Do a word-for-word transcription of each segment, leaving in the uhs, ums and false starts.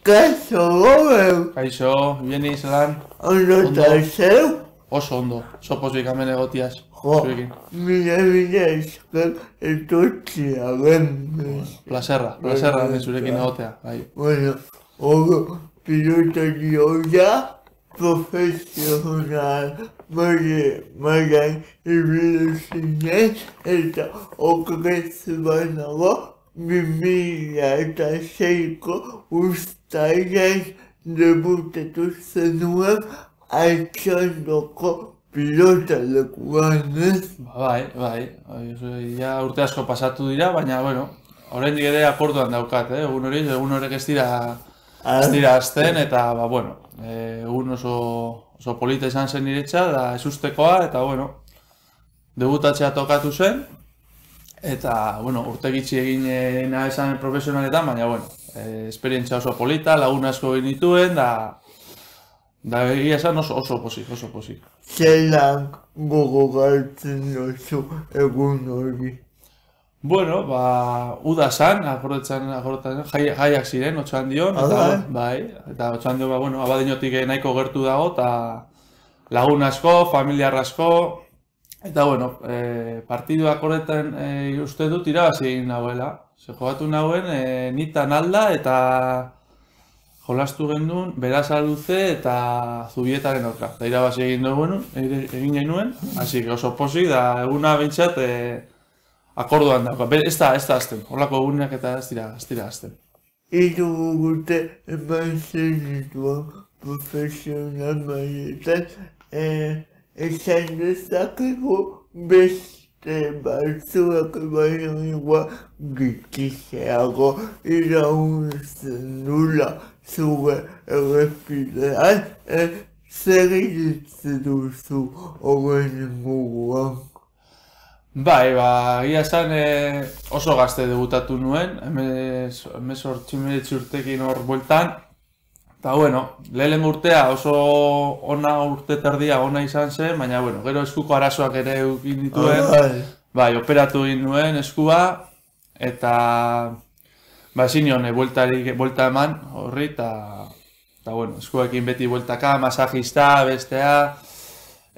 Kaixo, gobe! Kaixo, bieni zelan? Ondo eta zeu? Oso ondo, sopozik hemen egotiaz. Jo, mila mila esker etortzea ben. Plaserra, plaserra hemen zurekin egotea, bai. Bueno, ogo, pilotari hoia, profesional, maile, mailan ibili zinen, eta okrez banago, bi mila eta seiko uztailean debutatu zenuen Altxandoko pilotalekuan, ez? Bai, bai, ja urte asko pasatu dira, baina, bueno, oraindik ere akorduan daukat, eh? Egun hori, egun horrek ez dira, ez dira azten, eta, ba, bueno, egun oso, oso polita izan zen niretza, da ezustekoa, eta, bueno, debutatzea tokatu zen, eta, bueno, urte gitxi egin nahi esan profesionaletan, baina, bueno, esperientzia oso polita, lagun asko egin dituen, da, da egia esan oso, oso posik, oso posik. Zelan gogoratzen duzu egun hori? Bueno, ba, uda zan, akordetzen, akordetzen, jai, jaiak ziren, Otxandion, eta, bai, eta Otxandion, ba, bueno, abadinotik nahiko gertu dago, eta lagun asko, familiar asko, eta, bueno, e, partidu akordetzen e, uste dut irabazi egin nahuela. Ze jogatu nahuen, e, nitan alda, eta jolastu gendun, Berasaluze eta Zubietaren aurka. Da irabazi egin dugu, egin genuen, hasi que oso posik, da eguna bintzat e, akorduan dauka. Ez da, ez da azten, horlako egunak eta ez dira, ez dira azten. Hiru urte eman zenituan profesional mailetan, esan dezakegu beste batzuak baino igual gitxiseago irauntzen dula zure errepidean, zer egiten duzu horren inguruan? Bai, ba, egia esan oso gazte debutatu nuen, hemezortzi urtekin hor bueltan. Eta, bueno, lehen urtea oso ona urte terdia ona izan zen, baina, bueno, gero eskuko arazoak ere eukin dituen. Bai, operatu egin nuen eskua, eta ba, ezin nion, buelta eman horri, eta, bueno, eskuekin beti bueltaka, masajista, bestea.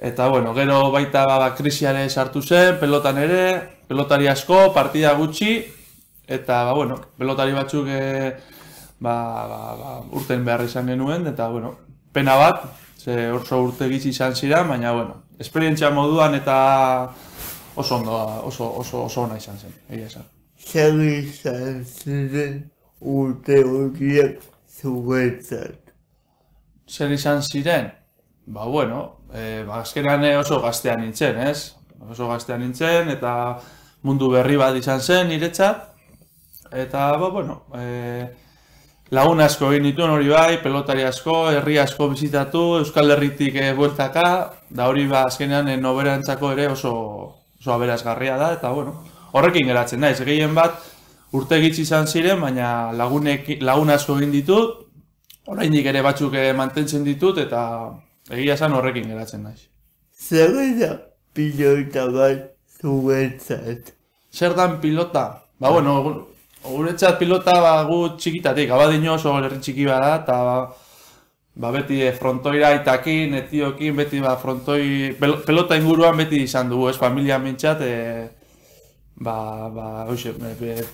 Eta, bueno, gero baita ba, krisiare sartu zen, pelotan ere, pelotari asko, partida gutxi, eta, ba, bueno, pelotari batzuk e, ba, ba, ba, urten behar izan genuen, eta, bueno, pena bat, ze oso urte gitxi izan ziren, baina, bueno, esperientzia moduan eta oso ondo, oso, oso, oso ona izan zen, egia esan. Zer izan ziren urte horiek zuretzat? Zer izan ziren? Ba, bueno, e, ba, azkenean oso gaztean nintzen, ez? Oso gaztean nintzen, eta mundu berri bat izan zen niretzat. Eta, ba, bueno, e, lagun asko egin dituen hori bai, pelotari asko, herri asko bizitatu, Euskal Herritik e, bueltaka, da hori ba, azkenean e, noberantzako ere oso, oso aberasgarria da, eta, bueno, horrekin geratzen naiz. Gehien bat urte gitxi izan ziren, baina lagunek, lagun asko egin ditut, oraindik ere batzuk e, mantentzen ditut, eta egia esan horrekin geratzen naiz. Zer da pilota bat zuretzat? Zer dan pilota? Ba, bueno, guretzat pilota ba, gu txikitatik, Abadino oso herri txiki bada, eta ba, beti frontoira aitakin, etiokin, beti ba, frontoi, pelota inguruan beti izan dugu, ez familia mintzat, e, ba, ba, oixe,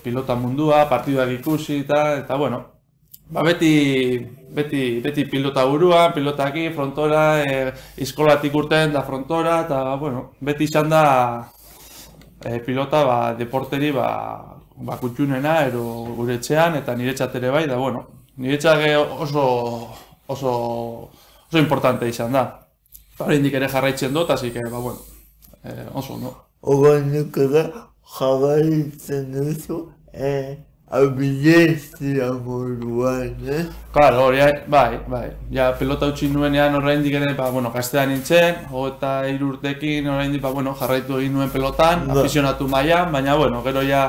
pilota mundua, partiduak ikusi, eta, eta bueno, ba, beti, beti, beti pilota buruan, pilota aki, frontora, e, iskolatik urten da frontora, eta, bueno, beti izan da e, pilota, ba, deporteri, ba, ba, kutxunena, ero gure etxean, eta niretzat ere bai, da, bueno, niretzat oso, oso, oso importante izan da. Oraindik ere jarraitzen dut, así que, ba, bueno, e, oso, no? Oraindik ere jarraitzen duzu, eh, abilezia moduan, eh? Claro, hori, bai, bai. Ja, pelota utzi nuenean oraindik ere, ba, bueno, gaztean nintzen, hogeita hiru urtekin oraindik, ba, bueno, jarraitu egin nuen pelotan, no. Afisionatu mailan, baina, bueno, gero ja,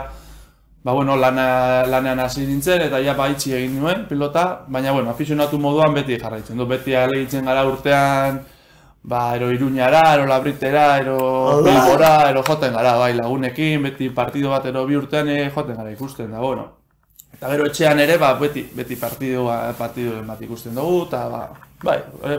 ba, bueno, lana, lanean hasi nintzen, eta ja, ba, itxi egin nuen pelota, baina, bueno, afisionatu moduan beti jarraitzen du, beti alegitzen gara urtean, ba, ero Iruñara, ero Labritera, ero Bilbora, ero joten gara, bai, lagunekin, beti partido bat ero bi urtean e, joten gara ikusten, da, bueno. Eta gero etxean ere, ba, beti, beti partidua, partiduen bat ikusten dugu, eta ba, bai, e,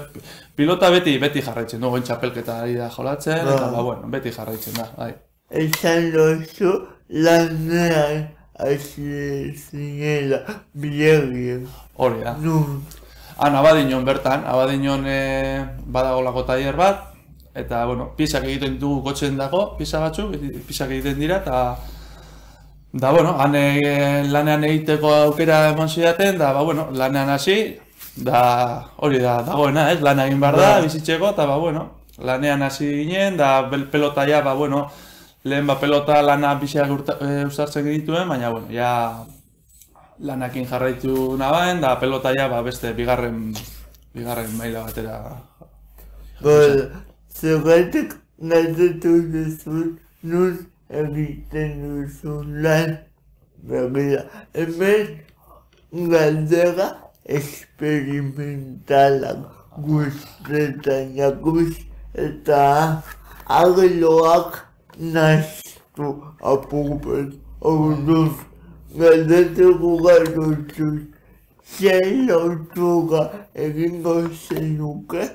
pilota beti, beti jarraitzen dugu, txapelketa ari da jolatzen, eta ba, bueno, beti jarraitzen da, bai. Esan dozu lanean hasi zinela bilegien. Hori da. Nun. Han, Abadiñon bertan, Abadiñon e, badagolako tailer bat, eta, bueno, pisak egiten ditugu kotxen dago, pisa batzuk, pisak egiten dira, eta da, bueno, han e, lanean egiteko aukera eman zidaten, da, ba, bueno, lanean hasi, da, hori da, dagoena, ez, lan egin behar da, bizitzeko, eta, ba, bueno, lanean hasi ginen, da, pelota ja, ba, bueno, lehen ba, pelota lana biziak uztartzen dituen, baina, bueno, ja, lanakin jarraitu nabaen, da, pelota ja, ba, beste, bigarren, bigarren maila batera. Bueno, zergatik galdetu duzun, nun egiten duzun lan, begira, hemen galdera esperimentalak guztetan jakuz eta arloak naztu apurpen. Orduz, galdetuko galdutzuz, zein lotura egingo zenuke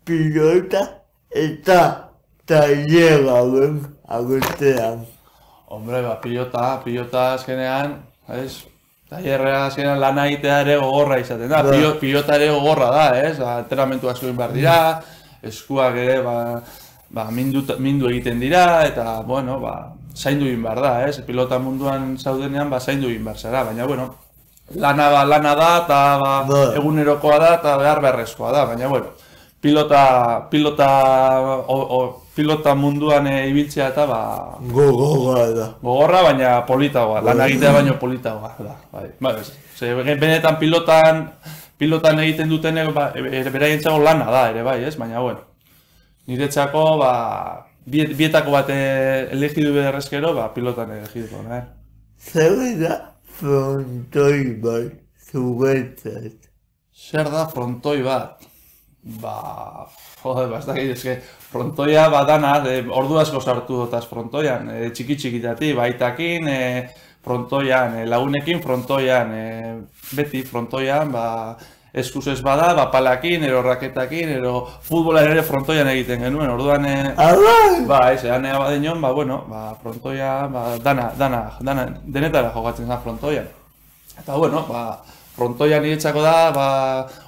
pilota eta taileraren artean. Hombre, ba, pilota, pilota azkenean, ez? Tailerra azkenean lana egitea ere gogorra izaten da, Pilo, pilota ere gogorra da, ez? Entrenamentuak zuen behar dira, eskuak ere, ba, ba, mindu, mindu egiten dira, eta, bueno, ba, zaindu egin behar da, ez? Pilota munduan zaudenean, ba, zaindu egin behar zara, baina, bueno, lana, ba, lana da, eta ba, egunerokoa da, eta behar beharrezkoa da, baina, bueno, pilota, pilota, o, o, pilota munduan e, ibiltzea eta ba... Gogorra da. Gogorra, baina politagoa, lan egitea baino politagoa da. Bai, bai, ze, benetan pilotan, pilotan egiten duten ba, e, beraientzako lana da ere bai, ez? Baina, bueno, niretzako, ba, biet, bietako bat elegidu berrezkero, ba, pilotan elegiduko, nahi. Zer da frontoi bat zuretzat? Zer da frontoi bat? Ba, joder, bastakit, eske, frontoia badana, e, ordu asko sartu dotaz frontoian, e, txiki txikitati, baitakin, e, frontoian, e, lagunekin frontoian, e, beti frontoian, ba, eskuz ez bada, ba, palakin, ero raketakin, ero futbolan ere frontoian egiten genuen, orduan, e, ba, ez, ean ega badenon, ba, bueno, ba, frontoia, ba, dana, dana, dana, denetara jokatzen da frontoian. Eta, bueno, ba, frontoian niretzako da, ba,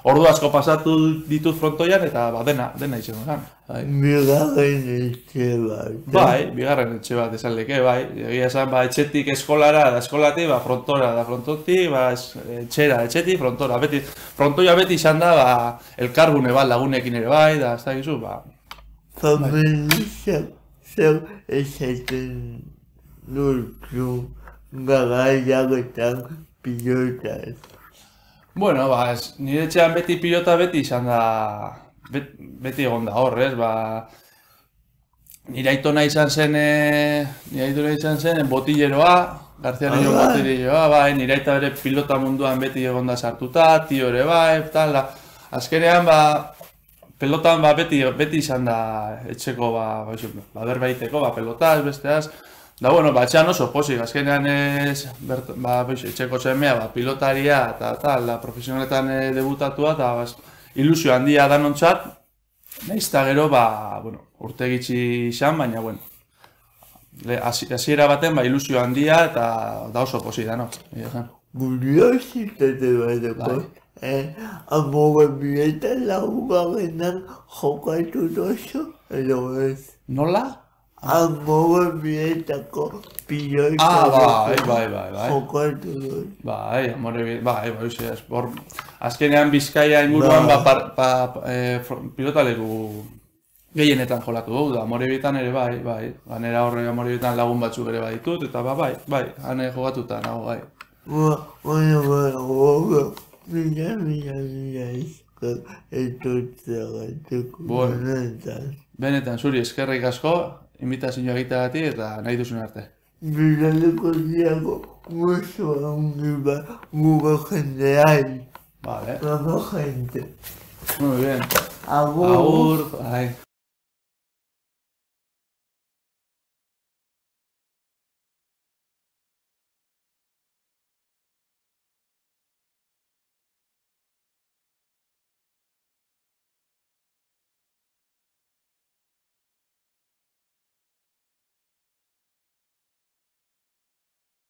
ordu asko pasatu ditut frontoian eta ba, dena, dena izango zen. Bai. Bigarren etxe bat. Bai, bigarren etxe bat esan leke, bai. Egia esan, ba, etxetik eskolara, da eskolati, ba, frontora, da frontotik, ba, etxera, etxetik, frontora. Beti, frontoia beti izan da, ba, elkarbune bat lagunekin ere bai, da, ez da gizu, ba. Familizak, zer esaten dutzu garaiagetan pilotaz. Bueno, ba, ez, nire etxean beti pilota beti izan da, bet, beti egon da hor, ez, ba, nire aitona izan zen, e, nire aitona izan zen, botilleroa, García Niño botilleroa, bai, nire aita bere pilota munduan beti egon da sartuta, tio ere bai, tal, da, azkenean, ba, pelotan, ba, beti, beti izan da etxeko, ba, ba, ba berbaiteko, ba, pelotaz, besteaz, da, bueno, ba, etxean oso posik, azkenean ez, bert, ba, etxeko txemea, ba, pilotaria eta tal, da, profesionaletan e, debutatua, eta ba, ilusio handia danontzat, nahiz eta gero, ba, bueno, urte gitxi izan, baina, bueno, hasiera baten, ba, ilusio handia, eta da oso posik da, no? Kuriositate bateko, eh, amogen bietan laugarrenan jokatu dozu, edo ez? Nola? Amogen bietako pilota ah, bai, bai, bai, bai. jokatu dozu. Bai, amore bi, bai, bai, bai, hor, azkenean Bizkaia inguruan, ba, ba, ba, e, pilotaleku gehienetan jolatu dugu, da, amore bietan ere bai, bai, ganera horre amore bietan lagun batzuk ere bai ditut, eta ba, bai, bai, hane jogatuta nago, bai. Ba, baina, baina, baina, mila, mila, mila, izkak, etotzeagatzeko, benetan. Benetan, zuri eskerrik asko, invitazioa egiteagatik eta nahi duzun arte. Bilaleko diago, mucho ongi ba, gure jendeai. Vale. Gure gente. Muy bien. Agur. Agur, bai.